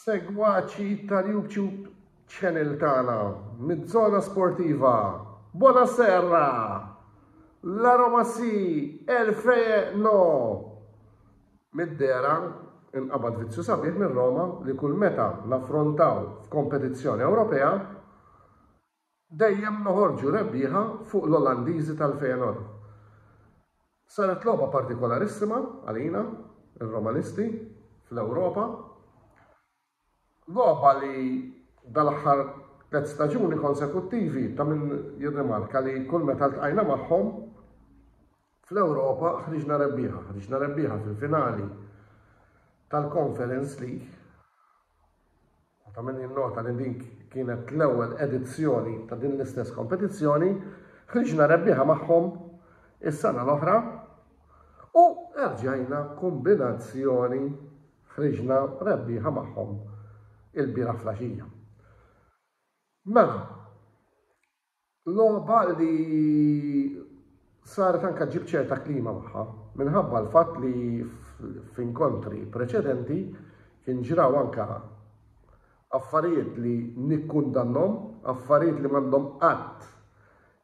Segwaċi tal-YouTube channel tagħna mid-żona sportiva. Buonasera! La Roma si, El Feje no! Mid-dehra inqabad vizzju sabiħ minn Roma li kull meta naffrontaw f'kompetizzjoni Ewropea dejjem noħorġu rebbieħa fuq l-Olandiżi tal-Feyenoord. Saret logħba partikolarissima għalina, ir-Romanisti, fl-Ewropa. Logħba li dal-aħħar tliet staġuni konsekuttivi ta' min jirrimarka li kull meta ltqajna magħhom fl-Ewropa ħriġna rebbieħa, ħriġna rebbieħa fil-finali tal-Conference League U ta' min jinnota li din kienet l-ewwel edizzjoni ta' din l-istess kompetizzjoni, ħriġna rebbieħa magħhom is-sena l-oħra u erġajna kombinazzjoni ħriġna rebbieħa magħhom il-bieraħ flaxija. Mela, Logħba li saret anka ġib ċerta klima magħha minħabba l-fatt li f'inkontri preċedenti kien ġraw anka affarijiet li nikkundannhom, affarijiet li m'għandhom qatt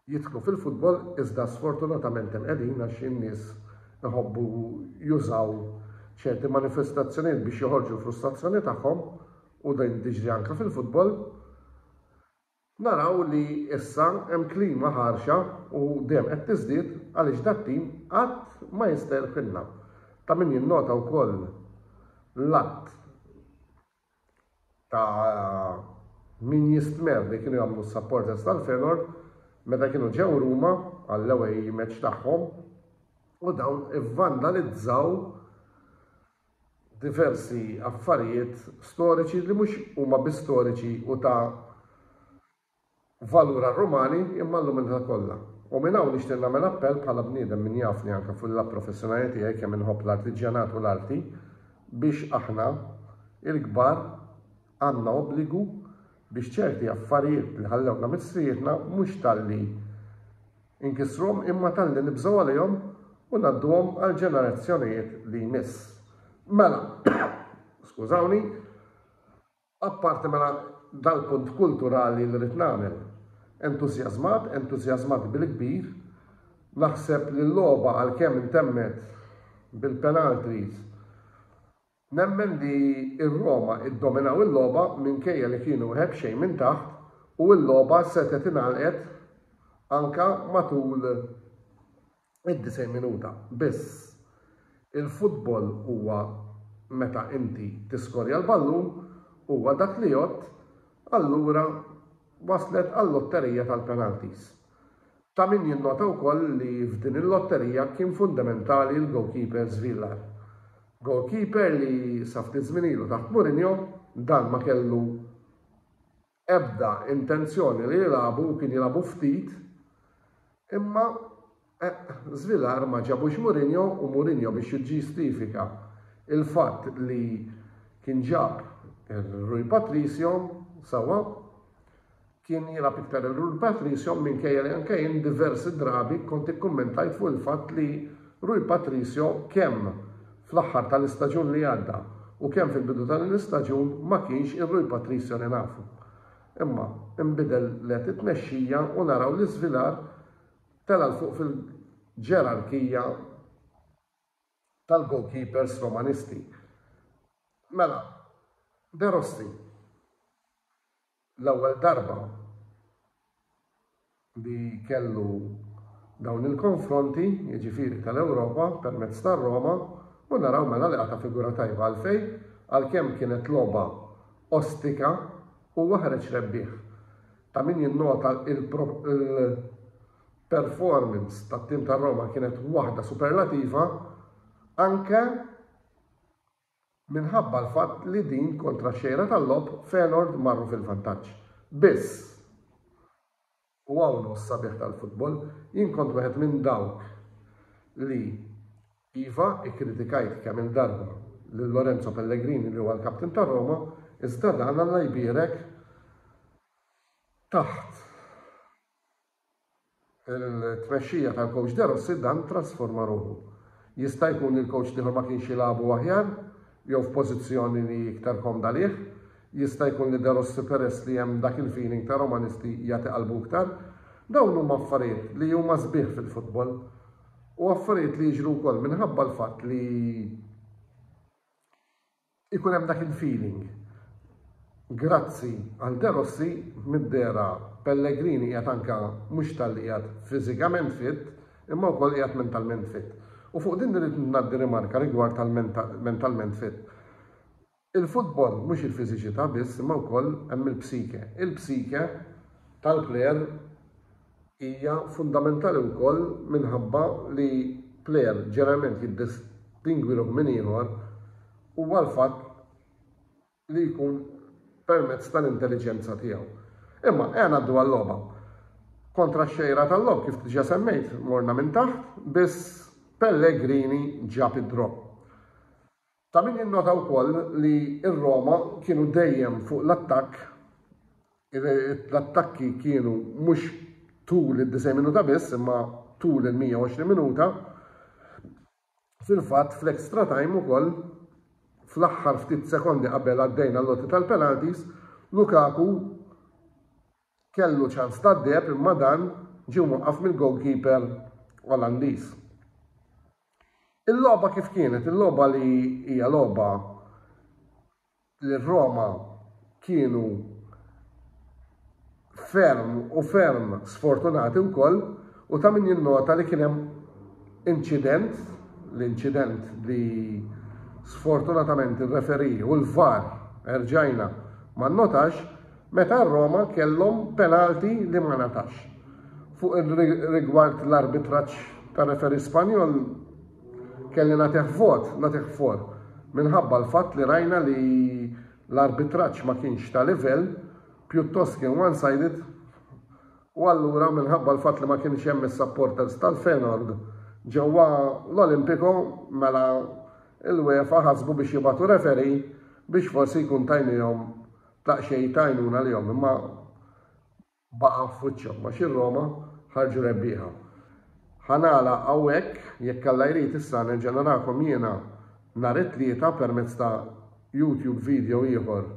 jidħlu fil-futbol iżda sfortunatament hemm qegħdin għax in-nies iħobbu jużaw ċerti manifestazzjonijiet biex joħorġu l-frustrazzjoni tagħhom u din tiġri anka fil-futbol. Naraw li issa hemm klima ħarxa u dejjem qed tiżdied għaliex dat-tim qatt ma jista' jirħilna. Ta' min jinnota wkoll l-att ta' min jistmerr li kienu jagħmlu s-supporters tal-Feyenoord meta kienu ġew Ruma għall-away match tagħhom u dawn ivvandalizzaw diversi affarijiet storiċi li mhux huma biss storiċi u ta' valur għar-Rumani imma għall-umanità kollha. U minn hawn nixtieq nagħmel appell bħala bniedem min jafni anke fuq il-lat professjonali tiegħi kemm inħobb l-artiġjanat u l-arti biex aħna il-kbar għandna obbligu biex ċerti affarijiet li ħallewna missirietna mhux talli Inkissruhom imma talli nibżgħu għalihom u ngħadduhom għall-ġenerazzjonijiet li jmiss. Mela, skużawni, apparti mela dal-punt kulturali li rrid nagħmel. Entużjażmat, entużjażmat bil-kbir, naħseb li l-logħba għalkemm intemmet bil-penalties Nemmen li r-Roma iddominaw il-logħba minkejja li kienu wieħed b'xejn minn taħt u l-logħba setgħet ingħalqet anke matul id-90 minuta. Biss, il-futbol huwa meta inti tiskorja l-ballun huwa dak li jgħodd, allura waslet għal-lotterija tal-penalties. Ta' min jinnota wkoll li f'din il-lotterija kien fundamentali l-goalkeeper Svilar. Goalkeeper li sa ftit żmien ilu taħt Mourinho dan ma kellu ebda intenzjoni li jilagħbu u kien jilagħbu ftit imma eh, Svilar ma ġabux Mourinho u Mourinho biex jiġġustifika il-fatt li kien ġab il-Rui Patricio sawa Kien jilgħab iktar il-Rui Patricio minkejja li anke jien diversi drabi kont ikkummentajt fuq il-fatt li Rui Patricio kemm fl-aħħar tal-istaġun li għadda u kemm fil-bidu ta' din l-istaġun ma kienx ir-Rui Patricio li nafu. Imma nbidel let it-tmexxija u naraw li Svilar tela' 'l fuq fil-ġerarkija tal-goalkeepers Romanisti. Mela, De Rossi. L-ewwel darba li kellu dawn il-konfronti, jiġifieri tal-Ewropa, permezz tar-Roma, u naraw mela li qata' figura tajba għalfejn, għalkemm kienet logħba ostika, huwa ħareġ rebbieħ. Ta' min jinnota il-performance tat-tim tar-Roma kienet waħda superlativa anke minħabba l-fatt li din kontra x-xejra tal-logħob Feyenoord marru fil-vantaġġ. Biss, u hawn hu s-sabiħ tal-futbol, jien kont wieħed minn dawk li iva ikkritikajt kemm-il darba lil Lorenzo Pellegrini li huwa l-kaptin ta' Roma, iżda dan Alla jbierek taħt Il-tmexxija tal-coach De Rossi dan trasforma ruħu. Jista' jkun li l-coach l-ieħor ma kienx jilagħbu aħjar jew f'pożizzjoni li iktar komda lih. Jista' jkun li De Rossi peress li hemm dak il-feeling ta' Romanisti jagħti qalbu iktar. Dawn huma affarijiet li huma sbieħ fil-futbol u affarijiet li jiġru wkoll minħabba l-fatt li ikun hemm dak il-feeling. Grazzi għal De Rossi mid-dehra Pellegrini qiegħed anke mhux talli qiegħed fiżikament fit imma wkoll qiegħed mentalment fit. U fuq din irrid ngħaddi rimarka rigward tal-mentalment fit. Il-futbol mhux il-fiżiċità biss imma wkoll hemm il-psike. Il-psike tal-plejer hija fundamentali wkoll minħabba li plejer ġeneralment jiddistingwi ruħu minn ieħor huwa l-fatt li jkun permezz tal-intelliġenza tiegħu. Imma ejja ngħaddu għal-logħba. Kontra x-xejra tal-logħob kif diġà semmejt morna minn taħt biss Pellegrini ġab id-draw. Ta' min jinnota wkoll li r-Roma kienu dejjem fuq l-attakk, l-attakki kienu mhux tul id-90 minuta biss imma tul il-120 minuta. Fil-fatt fl-extra time ukoll fl-aħħar ftit sekondi qabel għaddejna l-loti tal-penalties, Lukaku kellu ċans tad-deheb imma dan ġie mwaqqaf mill-goalkeeper Olandiż. Il-logħba kif kienet? Il-logħba li hija logħba li Roma kienu ferm u ferm sfortunati wkoll u ta' min jinnota li kien hemm inċident, l-inċident li sfortunatament ir-referee u l-VAR erġajna ma nnotax meta Roma kellhom penalti li ma ngħatax. Fuq rigward l-arbitraġġ tar-referee Spanjol kelli nagħtih vot, nagħtih for, minħabba l-fatt li rajna li l-arbitraġġ ma kienx ta' livell, pjuttost kien one-sided u allura minħabba l-fatt li ma kienx hemm is-supporters tal-Feyenoord ġewwa l-Olimpico mela l-UEFA ħasbu biex jibgħatu referee biex forsi jkun tajnihom daqsxejn ta' għajnuna lihom imma baqa' f'wiċċhom għax ir-Roma ħarġu rebbieħa. Ħa nagħlaq hawnhekk, jekk Alla jrid issa nerġa' narakom jiena nhar it-Tlieta permezz ta' YouTube video ieħor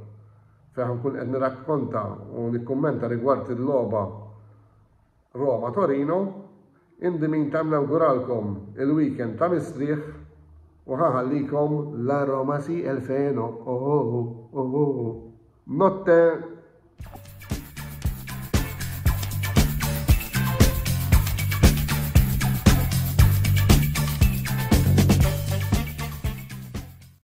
fejn ħa nkun qed nirrakkonta u nikkummenta rigward il-logħba Roma-Torino. In the meantime nawguralkom il-weekend ta' mistrieħ u ħa nħallikom La Roma si el feno oh oh oh oh oh. Notte!